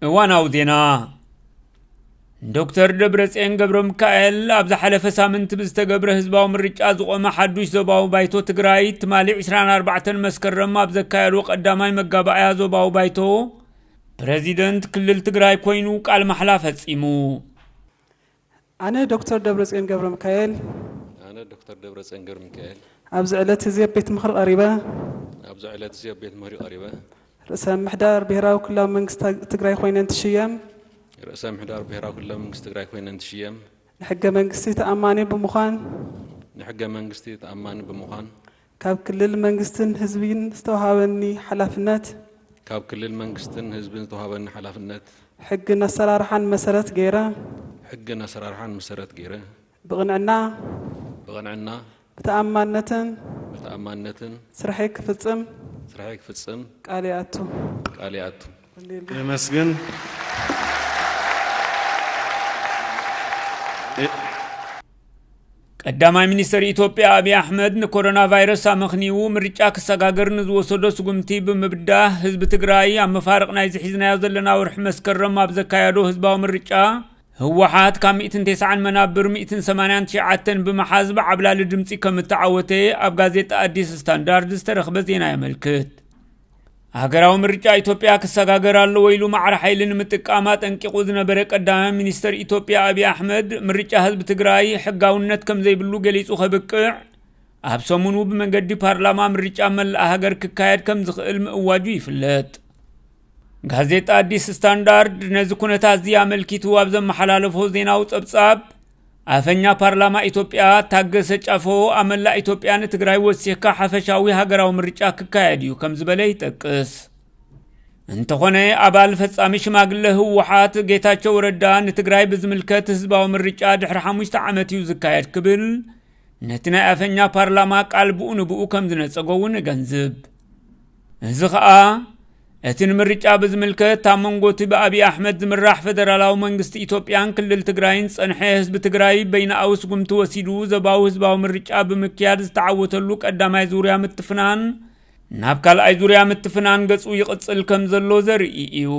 እዋናዊ ዜና። ዶክተር ደብረጽዮን ገብረ ሚካኤል ኣብ ዝሓለፈ ሳምንት ብዝተገብረ ህዝባዊ ምርጫ ዝቖመ ሓዱሽ ዞባዊ ባይቶ ትግራይ ትማሊ ዕስራን ኣርባዕተን መስከረም ኣብ ዘካየዶ ቀዳማይ መጋባእያ ዞባዊ ባይቶ ፕረዚደንት ክልል ትግራይ ኮይኑ ቃል ማሕላ ፈጺሙ። ኣነ ዶክተር ደብረጽዮን ገብረ ሚካኤል ኣነ ዶክተር ደብረጽዮን ገብረ ሚካኤል ኣብዚ ዕለት እዚ ኣብ ቤት ምኽሪ ቀሪበ ኣብዚ ዕለት እዚ ኣብ ቤት ምኽሪ ቀሪበ ርእሰ ምሕዳር ብሔራዊ ክልላዊ መንግስቲ ትግራይ ኮይነ እንትሽየም ርእሰ ምሕዳር ብሔራዊ ክልላዊ መንግስቲ ትግራይ ኮይነ እንትሽየም ንሕገ መንግስቲ ተኣማኒ ብምዃን ንሕገ መንግስቲ ተኣማኒ ብምዃን ካብ ክልል መንግስትን ህዝብን ዝተውሃበኒ ሓላፍነት ካብ ክልል መንግስትን ህዝብን ዝተውሃበኒ ሓላፍነት ሕግን ኣሰራርሓን መሰረት ገይረ ሕግን ኣሰራርሓን መሰረት ገይረ ብቕንዕና ብቕንዕና ብተኣማንነትን ብተኣማንነትን ስርሐይ ክፍጽም ስርሐይ ክፍጽም ቃል ይኣቱ። ቃል ይኣቱ። የመስግን። ቀዳማይ ሚኒስትር ኢትዮጵያ ኣብይ ኣሕመድ ንኮሮና ቫይረስ ኣመኽንዩ ምርጫ ክሰጋገር ንዝወሰዶ ስጉምቲ ብምብዳህ ህዝቢ ትግራይ ኣብ መፋርቕ ናይዚ ሒዝናዮ ዘለና ወርሒ መስከረም ኣብ ዘካየዶ ህዝባዊ ምርጫ ህወሓት ካብ ሚእትን ተስዓን መናብር ሚእትን ሰማንያን ትሽዓተን ብምሓዝ ብዓብላሊ ድምፂ ከም እተዓወተ ኣብ ጋዜጣ ኣዲስ ስታንዳርድ ዝተረኽበ ዜና የመልክት። ሃገራዊ ምርጫ ኢትዮጵያ ክሰጋገር ኣለዎ ኢሉ ማዕረ ሓይሊ ንምጥቃም ኣጠንቂቑ ዝነበረ ቀዳማይ ሚኒስተር ኢትዮጵያ ኣብይ ኣሕመድ ምርጫ ህዝቢ ትግራይ ሕጋውነት ከም ዘይብሉ ገሊጹ ከብቅዕ ኣብ ሰሙኑ ብመንገዲ ፓርላማ ምርጫ መላእ ሃገር ክካየድ ከም ዝኽእል ምእዋጁ ይፍለጥ። ጋዜጣ ኣዲስ ስታንዳርድ ነዚ ኩነታት እዚ ኣመልኪቱ ኣብ ዘመሓላለፎ ዜናዊ ጸብጻብ ኣፈኛ ፓርላማ ኢትዮጵያ ታገሰ ጫፎ ኣብ መላእ ኢትዮጵያ ንትግራይ ወሲኽካ ሓፈሻዊ ሃገራዊ ምርጫ ክካየድ እዩ ከም ዝበለ ይጠቅስ። እንተኾነ ኣባል ፈጻሚ ሽማግለ ህወሓት ጌታቸው ረዳ ንትግራይ ብዝምልከት ህዝባዊ ምርጫ ድሕሪ ሓሙሽተ ዓመት እዩ ዝካየድ ክብል ነቲ ናይ ኣፈኛ ፓርላማ ቃል ብኡ ንብኡ ከም ዝነጸጎ እውን እገንዝብ። እዚ ኸኣ እቲ ንምርጫ ብዝምልከት ኣብ መንጎ እቲ ብኣብይ ኣሕመድ ዝምራሕ ፈደራላዊ መንግስቲ ኢትዮጵያን ክልል ትግራይን ዝጸንሐ ህዝቢ ትግራይ በይናዊ ስጉምቲ ወሲዱ ዞባዊ ህዝባዊ ምርጫ ብምክያድ ዝተዓወተሉ ቀዳማይ ዙርያ ምትፍናን ናብ ካልኣይ ዙርያ ምትፍናን ገጹ ይቕጽል ከም ዘሎ ዘርኢ እዩ።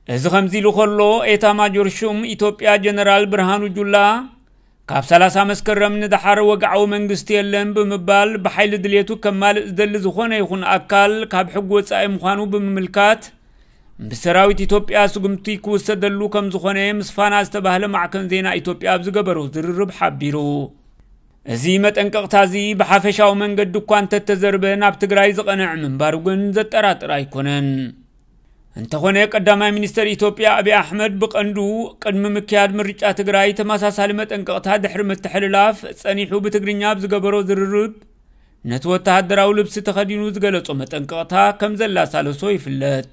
እዚ ከምዚ ኢሉ ከሎ ኤታ ማጆር ሹም ኢትዮጵያ ጀነራል ብርሃኑ ጁላ ካብ ሰላሳ መስከረም ንደሓር ወግዓዊ መንግስቲ የለን ብምባል ብሓይሊ ድልየቱ ከማልእ ዝደሊ ዝኾነ ይኹን ኣካል ካብ ሕጊ ወጻኢ ምዃኑ ብምምልካት ብሰራዊት ኢትዮጵያ ስጉምቲ ክውሰደሉ ከም ዝኾነ ምስ ፋና ዝተባህለ ማዕከን ዜና ኢትዮጵያ ኣብ ዝገበሮ ዝርርብ ሓቢሩ። እዚ መጠንቀቕታ እዚ ብሓፈሻዊ መንገዲ እኳ እንተተዘርበ ናብ ትግራይ ዝቐንዕ ምንባሩ ግን ዘጠራጥር ኣይኮነን። እንተኾነ ቀዳማይ ሚኒስተር ኢትዮጵያ ኣብይ ኣሕመድ ብቐንዱ ቅድሚ ምክያድ ምርጫ ትግራይ ተመሳሳሊ መጠንቀቕታ ድሕሪ ምትሕልላፍ ጸኒሑ ብትግርኛ ኣብ ዝገበሮ ዝርርብ ነቲ ወተሃደራዊ ልብሲ ተኸዲኑ ዝገለጾ መጠንቀቕታ ከም ዘላሳለሶ ይፍለጥ።